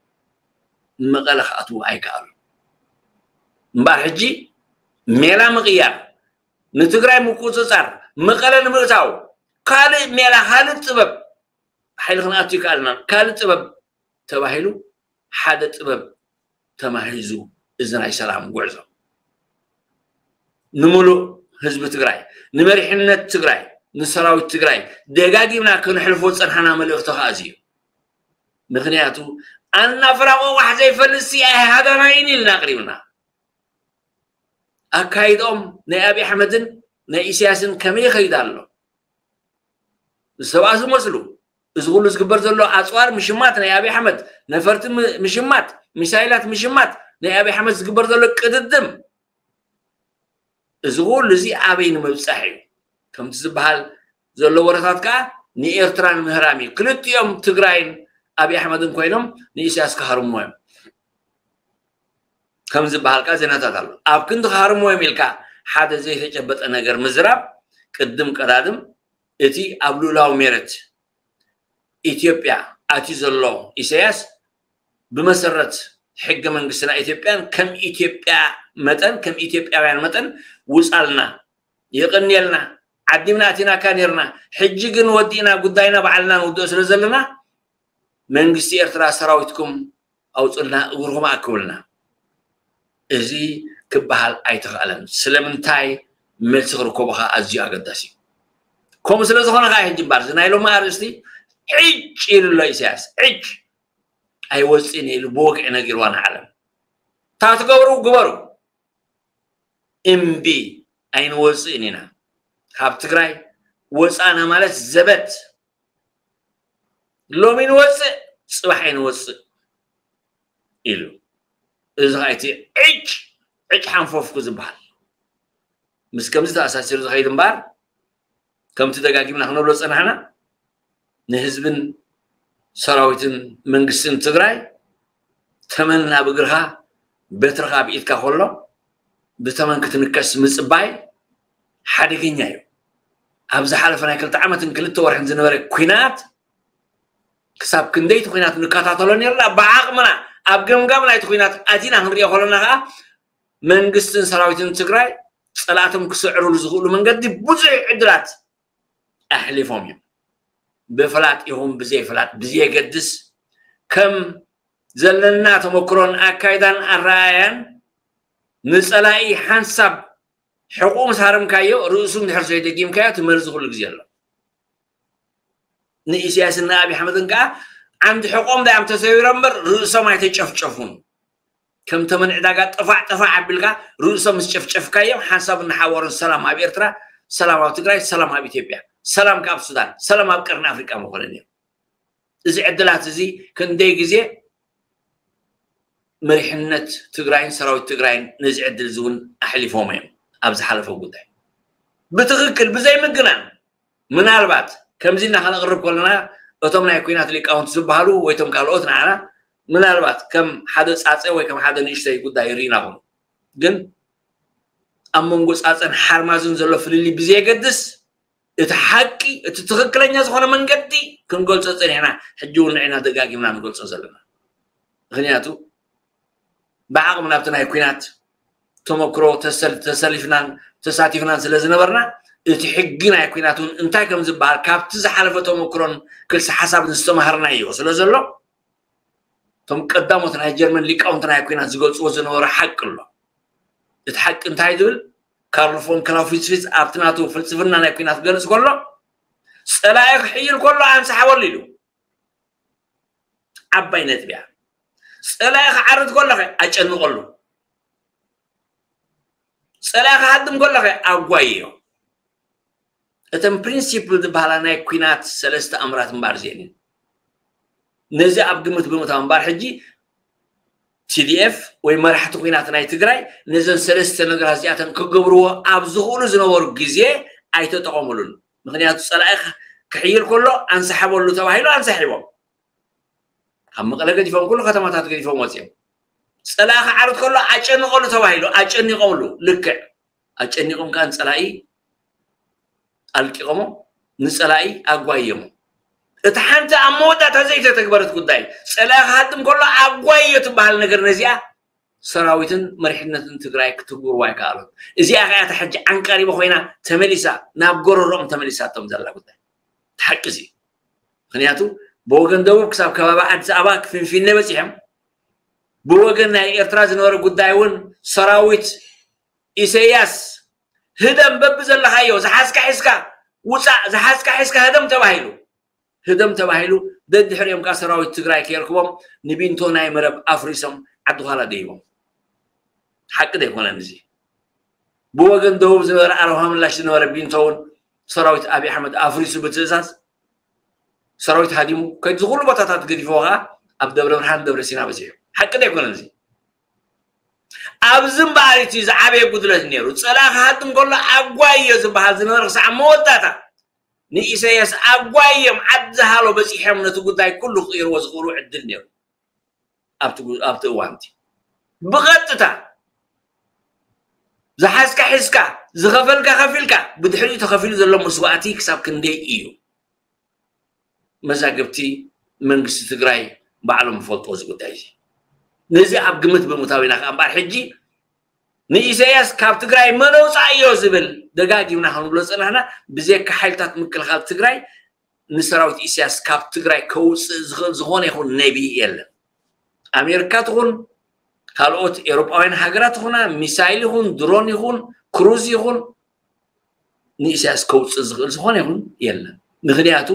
መቐለ ክኣትዉ ኣይከኣሉ። እምበኣር ሕጂ ሜላ ምቕያር፣ ንትግራይ ምቁፅፃር፣ መቐለ ንምእታው ካልእ ሜላ፣ ካልእ ጥበብ፣ ሓይሊ ክንኣቱ ይከኣልና፣ ካልእ ጥበብ ተባሂሉ ሓደ ጥበብ ተማሂዙ፣ እዚ ናይ ሰላም ጉዕዞ ንምሉእ ህዝቢ ትግራይ፣ ንመሪሕነት ትግራይ፣ ንሰራዊት ትግራይ ደጋጊምና ክንሕልፎ ዝፀንሓና መልእኽቲ ከዓ እዚ እዩ። ምክንያቱ ኣናፍራቆ ቋሕ ዘይፈልጥ ሲ ኣይሃዳናይን ኢልና ኣቅሪብና። ኣካይድኦም ናይ ኣብይ ኣሕመድን ናይ ኢሳያስን ከመይ ይኸይድ ኣሎ? ዝተባእሱ መስሉ። እዚ ኩሉ ዝግበር ዘሎ ኣፅዋር ምሽማት ናይ ኣብይ ኣሕመድ፣ ነፈርቲ ም- ምሽማት፣ ሚሳይላት ምሽማት፣ ናይ ኣብይ ኣሕመድ ዝግበር ዘሎ ቅድድም፣ እዚ ኩሉ እዚ ኣበይ ንምብፃሕ እዩ? ከምቲ ዝበሃል ዘሎ ወረታት ከዓ ንኤርትራ ንምህራም እዩ። ክልቲኦም ትግራይን ኣብይ ኣሕመድን ኮይኖም ንኢሳያስ ክሃርምዎ እዮም ከም ዝበሃል ከዓ ዜናታት ኣሎ። ኣብ ክንዲ ክሃርምዎ እዮም ኢልካ ሓደ ዘይተጨበጠ ነገር ምዝራብ፣ ቅድም ቀዳድም እቲ ኣብ ልኡላዊ ሜረት ኢትዮጵያ ኣትዩ ዘሎ ኢሳያስ ብመሰረት ሕገ መንግስትና ኢትዮጵያን ከም ኢትዮጵያ መጠን፣ ከም ኢትዮጵያውያን መጠን ውፃልና፣ የቐንየልና፣ ዓዲምና ኣቲናካ ነርና፣ ሕጂ ግን ወዲእና ጉዳይና ባዕልና ንውድኦ ስለ ዘለና መንግስቲ ኤርትራ ሰራዊትኩም ኣውፅልና፣ እግርኩም ኣክብልና። እዚ ክበሃል ኣይተኽኣለን። ስለምንታይ? መልሲ ክርከቡ ከዓ ኣዝዩ ኣገዳሲ እዩ። ከምኡ ስለ ዝኾነ ከዓ ሕጂ እምበኣር እዚ ናይ ሎሚ ኣርእስቲ ዕጭ ኢሉ ኣሎ ኢሳያስ። ዕጭ ኣይወፅእን ኢሉ ብወግዒ ነጊርዋ ንዓለም። እታ ትገብሩ ግበሩ፣ እምቢ ኣይንወፅእን ኢና። ካብ ትግራይ ወፃእና ማለት ዘበት፣ ሎሚ ንወፅእ ፅባሕ ኣይንወፅእ ኢሉ። እዚ ከዓ እቲ ዕጭ ዕጭ ሓንፈፍኩ ዝበሃል ምስ ከምዚ ተኣሳሲሩ ዝኸይድ እምበኣር፣ ከምቲ ደጋጊምና ክንብሎ ዝፀናሕና፣ ንህዝብን ሰራዊትን መንግስትን ትግራይ ተመን ናብ እግርኻ፣ በትርኻ ኣብ ኢድካ ከሎ ብተመን ክትንከስ ምፅባይ ሓደገኛ እዩ። ኣብ ዝሓለፈ ናይ ክልተ ዓመትን ክልተ ወርሕን ዝነበረ ኲናት ክሳብ ክንደይ እቲ ኲናት ንከታተሎ ነርና፣ ብዓቕምና ኣብ ገምጋም ናይቲ ኲናት ኣቲና ክንሪኦ ከለና ከዓ መንግስትን ሰራዊትን ትግራይ ፀላእቶም ክስዕርሉ ዝኽእሉ መንገዲ ብዙሕ ዕድላት ኣሕሊፎም እዮም። ብፍላጥ ይኹን ብዘይፍላጥ ብዘየገድስ ከም ዘለና ተመክሮን ኣካይዳን ኣረኣያን ንፀላኢ ሓንሳብ ሕቑኡ ምስ ሃረምካዮ ርእሱ እንድሕር ዘይደጊምካዮ እቲ መርዚ ኩሉ ግዜ ኣሎ። ንኢሳያስን ንኣብይ ኣሕመድን ከዓ ዓንዲ ሕቖም ዳዮም ተሰቢሮም እምበር ርእሶም ኣይተጨፍጨፉን። ከም ተመን ዕዳጋ ጠፋዕ ጠፋዕ ኣቢልካ ርእሶም ምስ ጨፍጨፍካዮም ሓንሳብ እናሓወሩን ሰላም ኣብ ኤርትራ፣ ሰላም ኣብ ትግራይ፣ ሰላም ኣብ ኢትዮጵያ፣ ሰላም ካብ ሱዳን፣ ሰላም ኣብ ቀርኒ ኣፍሪቃ ምኾነ ነይሩ። እዚ ዕድላት እዚ ክንደይ ግዜ መሪሕነት ትግራይን ሰራዊት ትግራይን ነዚ ዕድል እዚ እውን ኣሕሊፎም እዮም ኣብ ዝሓለፈ ጉዳይ ብትኽክል ብዘይምግናን። ምናልባት ከምዚ እና ከነቕርብ ከለና እቶም ናይ ኲናት ሊቃውንቲ ዝበሃሉ ወይ እቶም ካልኦት ንዓና ምናልባት ከም ሓደ ፃፀ ወይ ከም ሓደ ንእሽተይ ጉዳይ ይርኢና ኹኑ። ግን ኣብ መንጎ ፃፀን ሓርማዝን ዘሎ ፍልልይ ብዘየገድስ እቲ ሓቂ እቲ ትኽክለኛ ዝኾነ መንገዲ ክንገልፆ ፀኒሕና፣ ሕጂ እውን ንዕና ደጋጊምና ንገልፆ ዘለና። ምክንያቱ ብዓቕሚ ናብቲ ናይ ኲናት ተመክሮ ተሰል- ተሰሊፍናን ተሳቲፍናን ስለ ዝነበርና እቲ ሕጊ ናይ ኲናት እውን እንታይ ከም ዝበሃል ካብቲ ዝሓለፈ ተመክሮን ክልሲ ሓሳብን ዝተማሃርናዮ ስለ ዘሎ እቶም ቀዳሞት ናይ ጀርመን ሊቃውንቲ ናይ ኲናት ዝገልፅዎ ዝነበሩ ሓቂ ኣሎ። እቲ ሓቂ እንታይ ዝብል ካርል ፎን ክላውስዊትዝ ኣብቲ ናቱ ፍልስፍና ናይ ኲናት ክገልፅ ከሎ ፀላኢ ክሕይል ከሎ ኣንሳሕበሉ ኢሉ። ዓባይ ነጥቢ እያ። ፀላኢ ክዓርድ ከሎ ኣጨንቐሉ፣ ፀላኢ ክሃድም ከሎ ኣጓይዮ። እተን ፕሪንሲፕል ዝበሃላ ናይ ኲናት ሰለስተ ኣምራት እምበኣር እዚአን እየን። ነዚ ኣብ ግምት ብምእታው እምበኣር ሕጂ ቲ ዲ ኤፍ ወይ መራሕቲ ኲናት ናይ ትግራይ ነዘን ሰለስተ ነገራት እዚኣተን ክገብርዎ ኣብ ዝኽእሉ ዝነበሩ ግዜ ኣይተጠቐሙሉን። ምክንያቱ ፀላኢ ክሕይል ከሎ ኣንሳሕበሉ ተባሂሉ ኣንሳሒቦም። ካብ መቐለ ገዲፎም ኩሉ ከተማታት ገዲፎም ወፂኦም። ፀላኢ ክዓርድ ከሎ ኣጨንቐሉ ተባሂሉ ኣጨኒቖምሉ። ልክዕ ኣጨኒቖም ከዓ ንፀላኢ ኣልቂቖሞ ንፀላኢ ኣጓየሞ። እቲ ሓንቲ ኣብ መወዳእታ ዘይተተግበረት ጉዳይ፣ ፀላኢ ክሃድም ከሎ ኣጓዮ ትበሃል ነገር ነዚኣ ሰራዊትን መሪሕነትን ትግራይ ክትግብርዋ ኣይከኣሉን። እዚኣ ከኣ እታ ሕጂ ዓንቃሪቦ ኮይና ተመሊሳ ናብ ጎረሮኦም ተመሊሳቶም ዘላ ጉዳይ ሓቂ እዚ። ምክንያቱ ብወገን ደቡብ ክሳብ ከባቢ ኣዲስ ኣበባ ክፍንፊነ በፂሖም። ብወገን ናይ ኤርትራ ዝነበረ ጉዳይ እውን ሰራዊት ኢሰያስ ህደም በቢ ዘለኻዮ ዝሓዝካ ሒዝካ ውፃእ፣ ዝሓዝካ ሒዝካ ህደም ተባሂሉ ህደም ተባሂሉ። ደድሕሪኦም ከዓ ሰራዊት ትግራይ ከየርክቦም ንቢንቶ ናይ መረብ ኣፍሪሶም ዓዲ ኳላ ደይቦም። ሓቂ ደይኮነን እዚ? ብወገን ደቡብ ዝነበረ ኣረብሃ ምላሽ ዝነበረ ቢንቶ እውን ሰራዊት ኣብይ ኣሕመድ ኣፍሪሱ ብትእዛዝ ሰራዊት ሃዲሙ ከይዱ ዝኩሉ ቦታታት ገዲፍዎ ከዓ ኣብ ደብረ ብርሃን ደብረ ሲና በፂሑ። ሓቂ ደይኮነን እዚ? ኣብዚ እምበኣር እቲ ዝዓበየ ጉድለት ነይሩ። ፀላኢ ክሃድም ከሎ ኣጓዮ ዝበሃል ዝነበረ ክሳዕ መወዳእታ ንኢሳያስ ኣጓዮም ዓዲ ሃሎ በፂሖም ነቲ ጉዳይ ኩሉ ክቕይርዎ ዝኽእሉ ዕድል ነይሩ። ኣብቲ ጉ- ኣብቲ እዋንቲ ብቐጥታ ዝሓዝካ ሒዝካ፣ ዝኸፈልካ ከፊልካ፣ ብድሕሪኡ ተኸፊሉ ዘሎ መስዋእቲ ክሳብ ክንደይ እዩ? መዛግብቲ መንግስቲ ትግራይ ባዕሎም ይፈልጥዎ እዚ ጉዳይ እዚ። ነዚ ኣብ ግምት ብምእታው ኢና ከኣ እምበኣር ሕጂ ንኢሳያስ ካብ ትግራይ መን ኣውፃእዮ ዝብል ደጋጊምና ክንብሎ ዝፀናሕና፣ ብዘካ ሓይልታት ምክልኻል ትግራይ ንሰራዊት ኢሳያስ ካብ ትግራይ ከውፅእ ዝኽእል ዝኾነ ይኹን ነቢ የለን። ኣሜሪካ ትኹን ካልኦት ኤውሮጳውያን ሃገራት ይኹና፣ ሚሳይል ይኹን ድሮን ይኹን ክሩዝ ይኹን ንኢሳያስ ከውፅእ ዝኽእል ዝኾነ ይኹን የለን። ምክንያቱ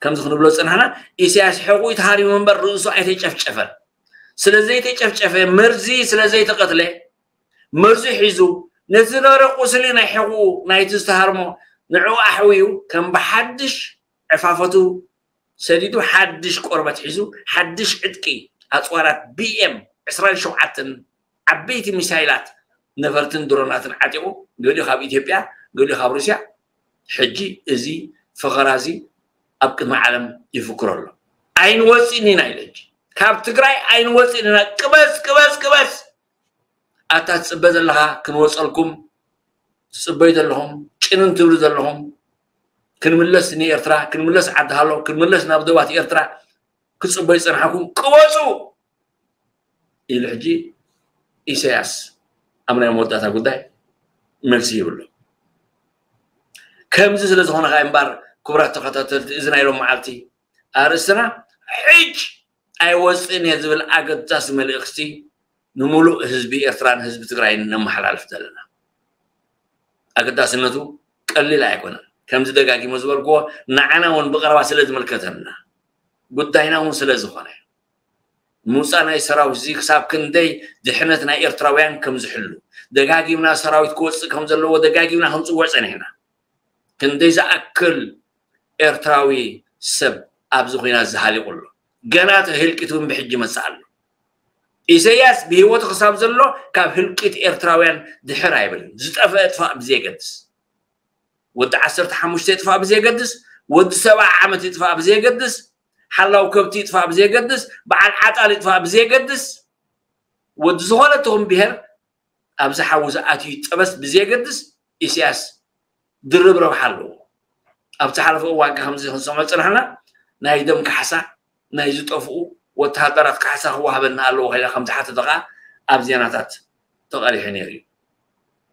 ከምዚ ክንብሎ ዝፀናሕና፣ ኢሳያስ ሕቑኡ ተሃሪሙ እምበር ርእሱ ኣይተጨፍጨፈን። ስለ ዘይተጨፍጨፈ፣ መርዚ ስለ ዘይተቐትለ፣ መርዚ ሒዙ ነቲ ዝነበረ ቁስሊ ናይ ሕቑኡ ናይቲ ዝተሃርሞ ንዕኡ ኣሕውዩ ከም ብሓድሽ ዕፋፈቱ ሰዲዱ ሓድሽ ቆርበት ሒዙ ሓድሽ ዕጥቂ ኣፅዋራት ቢኤም ዕስራን ሸውዓተን ዓበይቲ ሚሳይላት ነፈርትን ድሮናትን ዓጢቑ ገሊኡ ካብ ኢትዮጵያ ገሊኡ ካብ ሩስያ ሕጂ እዚ ፈኸራ እዚ ኣብ ቅድሚ ዓለም ይፍክሮ ኣሎ። ኣይንወፅእን ኢና ኢለ ሕጂ ካብ ትግራይ ኣይንወፅእን ኢና። ቅበስ ቅበስ ቅበስ ኣታ ትፅበ ዘለኻ ክንወፀልኩም ትፅበዩ ዘለኹም ጭንን ትብሉ ዘለኹም ክንምለስ ንኤርትራ ክንምለስ ዓዲ ሃሎ ክንምለስ ናብ ደባት ኤርትራ ክፅበዩ ዝፀናሕኩም ቅወፁ ኢሉ ሕጂ ኢሳያስ ኣብ ናይ መወዳእታ ጉዳይ መልሲ ይብሉ። ከምዚ ስለ ዝኾነ ከዓ እምበር ክቡራት ተኸታተልቲ እዚ ናይ ሎም መዓልቲ ኣርእስትና ሕጅ ኣይወፅእን እየ ዝብል ኣገዳሲ መልእኽቲ ንምሉእ ህዝቢ ኤርትራን ህዝቢ ትግራይን ነመሓላልፍ ዘለና። ኣገዳስነቱ ቀሊል ኣይኮነን። ከምዚ ደጋጊሞ ዝበልክዎ ንዓና እውን ብቐረባ ስለ ዝምልከተና ጉዳይና እውን ስለ ዝኾነ ምውፃእ ናይ ሰራዊት እዚ ክሳብ ክንደይ ድሕነት ናይ ኤርትራውያን ከም ዝሕሉ ደጋጊምና ሰራዊት ክወፅእ ከም ዘለዎ ደጋጊምና ክንፅውዕ ፀኒሕና። ክንደይ ዝኣክል ኤርትራዊ ሰብ ኣብዚ ኹናት ዝሃሊቑ ኣሎ። ገና እቲ ህልቂት እውን ብሕጂ ይመፅእ ኣሎ። ኢሰያስ ብህይወቱ ክሳብ ዘሎ ካብ ህልቂት ኤርትራውያን ድሕር ኣይብልን። ዝጠፍአ ጥፋእ ብዘየገድስ ወዲ ዓሰርተ ሓሙሽተ ይጥፋእ ብዘየገድስ ወዲ ሰብዓ ዓመት ይጥፋእ ብዘየገድስ ሓላው ከብቲ ይጥፋእ ብዘየገድስ በዓል ዓጣል ይጥፋእ ብዘየገድስ ወዲ ዝኾነ ትኹን ብሄር ኣብዚ ሓዊ ዝኣትዩ ይጠበስ ብዘየገድስ ኢሳያስ ድርብ ረብሓ ኣለዎ። ኣብ ዝሓለፈ እዋን ከ ከምዚ ክንሰምዖ ዝፅናሕና ናይ ደም ካሕሳ ናይ ዝጠፍኡ ወተሃደራት ካሕሳ ክወሃበና ኣለዎ ከኢላ ከም ዝሓተተ ከዓ ኣብ ዜናታት ተቐሪሑ ነይሩ እዩ።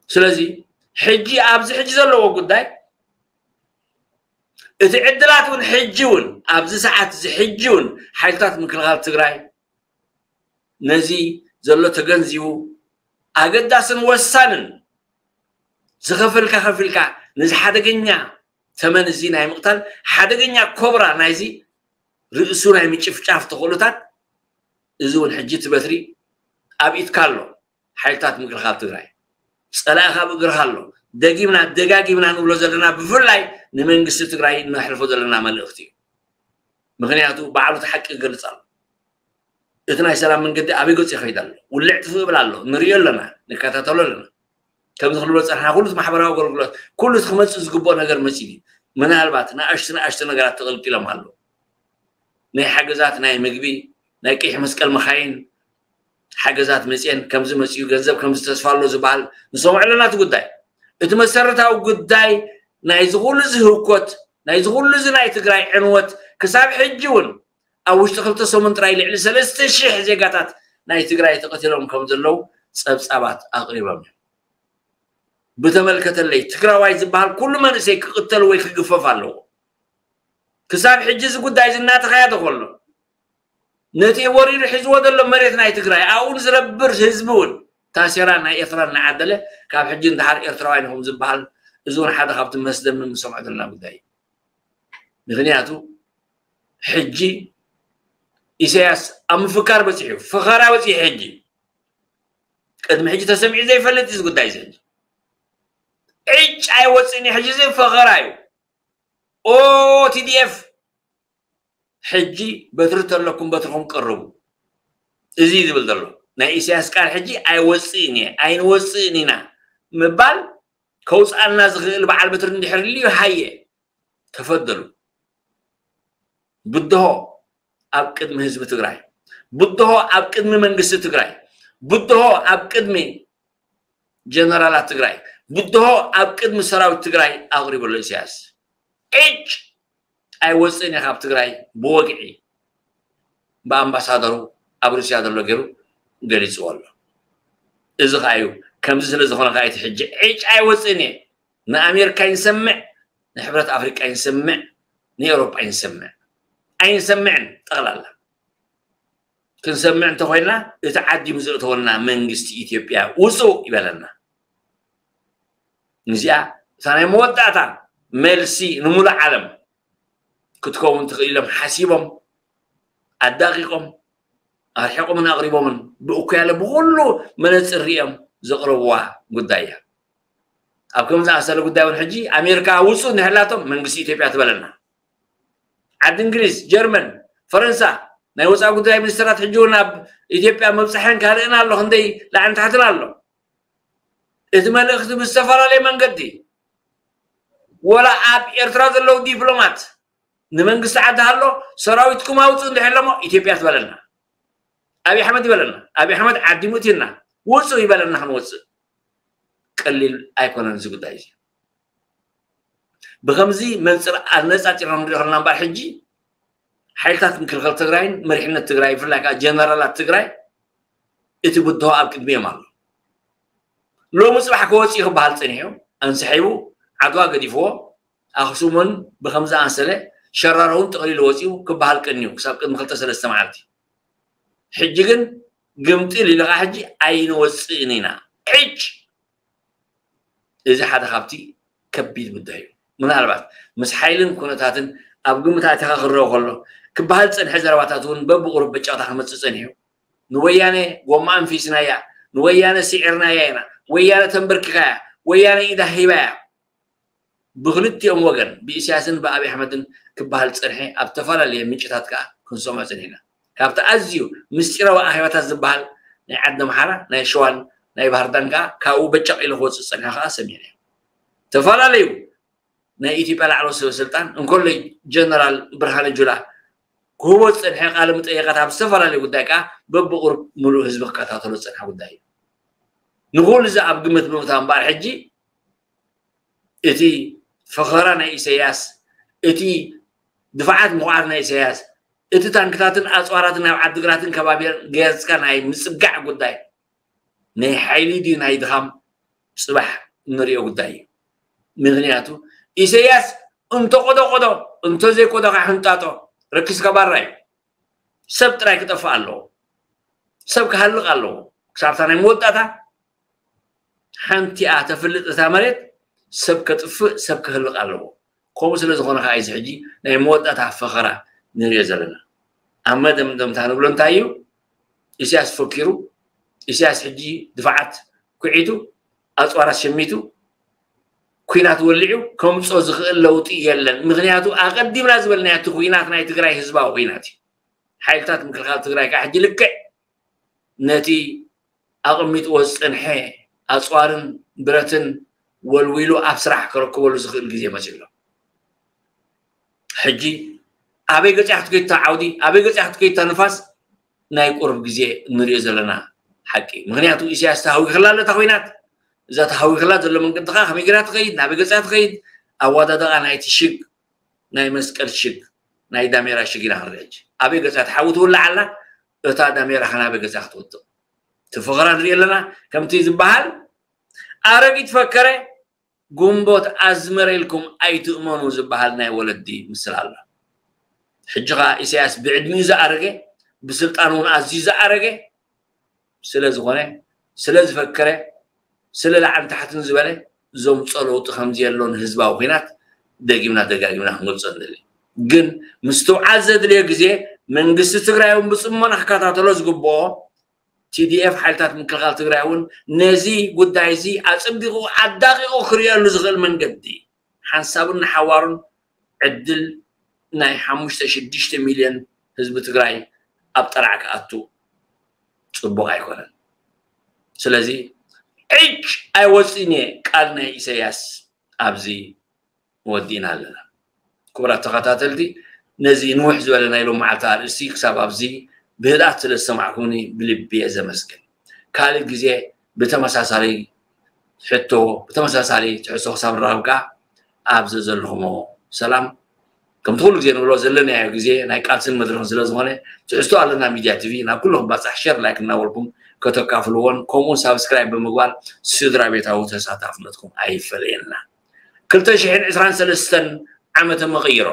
ስለዚ ሕጂ ኣብዚ ሕጂ ዘለዎ ጉዳይ እቲ ዕድላት እውን ሕጂ እውን ኣብዚ ሰዓት እዚ ሕጂ እውን ሓይልታት ምክልኻል ትግራይ ነዚ ዘሎ ተገንዚቡ ኣገዳስን ወሳንን ዝኸፈልካ ከፊልካ ነዚ ሓደገኛ ተመን እዚ ናይ ምቕታል ሓደገኛ ኮብራ ናይዚ ርእሱ ናይ ምጭፍጫፍ ተኽእሎታት እዚ እውን ሕጂ እቲ በትሪ ኣብ ኢድካ ኣሎ። ሓይልታት ምክልኻል ትግራይ ፀላእኻ ኣብ እግርኻ ኣሎ። ደጊምና ደጋጊምና ንብሎ ዘለና ብፍላይ ንመንግስቲ ትግራይ ነሕልፎ ዘለና መልእኽቲ እዩ። ምክንያቱ ባዕሉ እቲ ሓቂ ይገልፅ ኣሎ። እቲ ናይ ሰላም መንገዲ ኣበይ ገፁ ይኸይድ ኣሎ? ውልዕ ጥፍእ ይብል ኣሎ። ንሪኦ ኣለና፣ ንከታተሎ ኣለና። ከምዚ ክንብሎ ፀንሓ ኩሉ እቲ ማሕበራዊ ኣገልግሎት ኩሉ እቲ ክመፅእ ዝግብኦ ነገር መፂኡ እዩ። ምናልባት ንኣሽቱ ንኣሽቱ ነገራት ተቐልቂሎም ኣለዉ። ናይ ሓገዛት ናይ ምግቢ ናይ ቀይሕ መስቀል መኻይን ሓገዛት መፅየን ከምዚ መፅኡ ገንዘብ ከምዚ ተስፋ ኣሎ ዝበሃል ንሰምዖ ኣለና። እቲ ጉዳይ እቲ መሰረታዊ ጉዳይ ናይዚ ኩሉ እዚ ህውኮት፣ ናይዚ ኩሉ እዚ ናይ ትግራይ ዕንወት ክሳብ ሕጂ እውን ኣብ ውሽጢ ክልተ ሰሙን ጥራይ ልዕሊ ሰለስተ ሽሕ ዜጋታት ናይ ትግራይ ተቐቲሎም ከም ዘለዉ ጸብጻባት ኣቕሪቦም እዮም። ብተመልከተለይ ትግራዋይ ዝበሃል ኩሉ መንእሰይ ክቕተል ወይ ክግፈፍ ኣለዎ። ክሳብ ሕጂ እዚ ጉዳይ እዚ እናተኻየደ ከሎ ነቲ ወሪዱ ሒዝዎ ዘሎ መሬት ናይ ትግራይ ኣብኡ ዝነብር ህዝቢ እውን ታሴራ ናይ ኤርትራ እናዓደለ ካብ ሕጂ እንድሓር ኤርትራውያን ኢኹም ዝበሃል እዚ እውን ሓደ ካብቲ መስደምም ንሰምዖ ዘለና ጉዳይ እዩ። ምክንያቱ ሕጂ ኢሳያስ ኣብ ምፍካር በፂሑ ፈኸራ በፂሑ ሕጂ ቅድሚ ሕጂ ተሰሚዑ ዘይፈልጥ እዚ ጉዳይ እዚ ሕጂ ዕጭ ኣይወፅእን እዩ። ሕጂ እዚ ፈኸራ እዩ። ኦ ቲዲኤፍ ሕጂ በትሪ ተለኩም በትርኩም ቀርቡ። እዚ እዩ ዝብል ዘሎ ናይ ኢሳያስ ቃል ሕጂ ኣይወፅእን እየ ኣይንወፅእን ኢና ምባል ከውፅኣና ዝኽእል በዓል በትሪ እንድሕር ልዩ ሃየ ተፈደሉ። ብድሆ ኣብ ቅድሚ ህዝቢ ትግራይ፣ ብድሆ ኣብ ቅድሚ መንግስቲ ትግራይ፣ ብድሆ ኣብ ቅድሚ ጀነራላት ትግራይ፣ ብድሆ ኣብ ቅድሚ ሰራዊት ትግራይ ኣቕሪቡ ኣሎ ኢሳያስ። ዕጭ ኣይወፅእን እየ ካብ ትግራይ ብወግዒ ብኣምባሳደሩ ኣብ ሩስያ ዘሎ ገይሩ ገሊፅዎ ኣሎ። እዚ ከዓ እዩ ከምዚ ስለ ዝኾነ ከዓ እቲ ሕጂ ዕጭ ኣይወፅእን እየ ንኣሜሪካ ይንሰምዕ ንሕብረት ኣፍሪቃ ይንሰምዕ ንኤውሮጳ ይንሰምዕ ኣይንሰምዕን ጠቕላላ ክንሰምዕ እንተኮይና እቲ ዓዲሙ ዘእተወልና መንግስቲ ኢትዮጵያ ውፁ ይበለና። እዚኣ እታ ናይ መወዳእታ መልሲ ንሙሉእ ዓለም ክትከውን ትኽእል ኢሎም ሓሲቦም ኣዳቂቆም ኣርሒቆምን ኣቕሪቦምን ብእኩያለ ብኩሉ መነፅር ሪኦም ዘቕረብዋ ጉዳይ እያ። ኣብ ከም ዝኣሰለ ጉዳይ እውን ሕጂ ኣሜሪካ ውፁ እንድሕላቶም መንግስቲ ኢትዮጵያ ትበለና። ዓዲ እንግሊዝ፣ ጀርመን፣ ፈረንሳ ናይ ወፃኢ ጉዳይ ሚኒስትራት ሕጂ እውን ኣብ ኢትዮጵያ መብፃሕን ካልእን ኣሎ ክንደይ ላዕን ታሕትን ኣሎ። እቲ መልእኽቲ ብዝተፈላለየ መንገዲ ወላ ኣብ ኤርትራ ዘለዉ ዲፕሎማት ንመንግስቲ ዓዲ ሃሎ ሰራዊትኩም ኣውፅኡ እንድሕር ኣለሞ ኢትዮጵያ ትበለና። ኣብይ ኣሕመድ ይበለና። ኣብይ ኣሕመድ ዓዲሙ እትየና ውፁ ይበለና ክንወፅእ ቀሊል ኣይኮነን እዚ ጉዳይ እዚ። ብከምዚ መንፅር ኣነፃፂርና ንሪኦ ከለና እምበኣር ሕጂ ሓይልታት ምክልኻል ትግራይን መሪሕነት ትግራይ ብፍላይ ከዓ ጀነራላት ትግራይ እቲ ብድሆ ኣብ ቅድሚኦም ኣሎ። ሎሚ ፅባሕ ክወፅእ ክበሃል ፀኒሑ ኣንስሒቡ ዓድዋ ገዲፍዎ ኣክሱምን ብከምዚ ኣንሰለ ሸራሮውን ጠቕሊሉ ወፂኡ ክበሃል ቀኒዩ ክሳብ ቅድሚ ክልተ ሰለስተ መዓልቲ። ሕጂ ግን ግምጢል ኢልካ ሕጂ ኣይንወፅእን ኢና ዕጭ እዚ ሓደ ካብቲ ከቢድ ጉዳይ እዩ። ምናልባት ምስ ሓይልን ኩነታትን ኣብ ግምት ኣቲኻ ክረኦ ከሎ ክበሃል ዝፀንሐ ዘረባታት እውን በብቁሩብ በጫውታ ክመፅእ ፀኒሑ። ንወያነ ጎማ ኣንፊስናያ፣ ንወያነ ስዒርናያ ኢና፣ ወያነ ተንበርኪኻያ፣ ወያነ ኢዳ ሂባያ። ብክልቲኦም ወገን ብኢሳያስን ብኣብይ ኣሕመድን ክበሃል ዝፀንሐ ኣብ ዝተፈላለየ ምንጭታት ከዓ ክንሰምዖ ፀኒሕና። ካብቲ ኣዝዩ ምስጢራዊ ኣኼባታት ዝበሃል ናይ ዓዲ ኣምሓራ ናይ ሸዋን ናይ ባህርዳን ከዓ ካብኡ በጨቕ ኢሉ ክወፅእ ዝፀንሐ ከዓ ሰሚዕና እዮም። ዝተፈላለዩ ናይ ኢትዮጵያ ላዕለዎት ሰበ ስልጣን እንኮለይ ጀነራል ብርሃነ ጁላ ክህቦ ዝፀንሐ ቃለ መጠየቃት ኣብ ዝተፈላለዩ ጉዳይ ከዓ በብቁሩብ ሙሉእ ህዝቢ ክከታተሎ ዝፀንሐ ጉዳይ እዩ። ንኩሉ እዚ ኣብ ግምት ብምእታው እምበኣር ሕጂ እቲ ፈኸራ ናይ ኢሳያስ እቲ ድፋዓት ምኹዓት ናይ ኢሳያስ እቲ ታንክታትን ኣፅዋራትን ናብ ዓዲግራትን ከባቢያን ገያፅካ ናይ ምፅጋዕ ጉዳይ ናይ ሓይሊ ድዩ ናይ ድኻም ፅባሕ እንሪኦ ጉዳይ እዩ። ምክንያቱ ኢሳያስ እንተቆዶቆዶ እንተዘይቆዶ ከዓ ሕንጣጦ ረኪስካ ባራ እዩ። ሰብ ጥራይ ክጠፍእ ኣለዎ። ሰብ ክሃልቕ ኣለዎ። ክሳብታ ናይ መወዳእታ ሓንቲኣ ተፍልጥ እታ መሬት ሰብ ከጥፍእ ሰብ ክህልቕ ኣለዎ። ከምኡ ስለ ዝኾነ ከዓ እዚ ሕጂ ናይ መወዳእታ ፈኸራ ንሪኦ ዘለና። ኣብ መደምደምታ ንብሎ እንታይ እዩ? ኢሳያስ ፈኪሩ፣ ኢሳያስ ሕጂ ድፋዓት ኩዒቱ፣ ኣፅዋራት ሸሚቱ፣ ኩናት ወሊዑ ከምፅኦ ዝኽእል ለውጢ የለን። ምክንያቱ ኣቐዲምና ዝበልናዮ እቲ ኩናት ናይ ትግራይ ህዝባዊ ኩናት እዩ። ሓይልታት ምክልኻል ትግራይ ከዓ ሕጂ ልክዕ ነቲ ኣቐሚጥዎ ዝፀንሐ ኣፅዋርን ብረትን ወልዊሉ ኣብ ስራሕ ከረክበሉ ዝኽእል ግዜ መፂኡ ኣሎ። ሕጂ ኣበይ ገፂኣ ክትከይድ እታ ዓውዲ፣ ኣበይ ገፂኣ ክትከይድ እታ ንፋስ ናይ ቁሩብ ግዜ እንሪኦ ዘለና ሓቂ። ምክንያቱ ኢሳያስ ተሃዊኽላ ኣሎ እታ ኮይናት፣ እዛ ተሃዊኽላ ዘሎ መንገዲ ከዓ ከመይ ገይራ ትኸይድ፣ ናበይ ገፂኣ ትኸይድ፣ ኣወዳድቓ ናይቲ ሽግ ናይ መስቀል ሽግ ናይ ዳሜራ ሽግ ኢና ክንርኢ ሕጂ። ኣበይ ገጻ ትሓዊ ትውላዕ ኣላ? እታ ዳሜራ ከ ናበይ ገጻ ክትወድቕ? እቲ ፈኸራ ንርኢ ኣለና። ከምቲ ዝበሃል ኣረጊት ፈከረ ግንቦት ኣዝመረ ኢልኩም ኣይትእመኑ ዝበሃል ናይ ወለዲ ምስል ኣሎ። ሕጂ ኸኣ ኢሳያስ ብዕድሚኡ ዝኣረገ፣ ብስልጣን እውን ኣዝዩ ዝኣረገ ስለ ዝኾነ፣ ስለ ዝፈከረ፣ ስለ ላዕልን ታሕትን ዝበለ ዘምጾ ለውጢ ከም ዘየሎን ህዝባዊ ኲናት ደጊምና ደጋጊምና ክንገልጾ ንደሊ። ግን ምስትውዓል ዘድልዮ ግዜ መንግስቲ ትግራይ እውን ብጽሞና ክከታተሎ ዝግብኦ፣ ቲ ዲ ኤፍ ሓይልታት ምክልኻል ትግራይ እውን ነዚ ጉዳይ እዚ ኣጸቢቑ ኣዳቒቑ ክርእየሉ ዝኽእል መንገዲ ሓንሳብን ንሓዋሩን ዕድል ናይ ሓሙሽተ ሽዱሽተ ሚልዮን ህዝቢ ትግራይ ኣብ ጠራዕ ክኣቱ ጽቡቕ ኣይኮነን። ስለዚ ዕጭ ኣይወፅእን እየ ቃል ናይ ኢሳያስ ኣብዚ ወዲእና ኣለና። ክቡራት ተኸታተልቲ፣ ነዚ ንውሕ ዝበለ ናይ ሎም መዓልቲ ኣርእስቲ ክሳብ ኣብዚ ብህድኣት ስለ ዝሰማዕኩምኒ ብልቢ እየ ዘመስግን። ካልእ ግዜ ብተመሳሳሊ ሕቶ፣ ብተመሳሳሊ ትሕዝቶ ክሳብ ንራኸብ ከዓ ኣብ ዘዘለኹሞ ሰላም። ከምቲ ኩሉ ግዜ ንብሎ ዘለናዮ ግዜ ናይ ቃልስን መድረኽን ስለ ዝኾነ ትሕዝቶ ኣለና ሚድያ ቲቪ ናብ ኩሉ ክባፃሕ ሸር ላይክ እናበልኩም ከተካፍልዎን ከምኡ ሳብስክራይብ ብምግባር ስድራ ቤታዊ ተሳታፍነትኩም ኣይፈለየና። ክልተ ሽሕን ዕስራን ሰለስተን ዓመተ መቐይሮ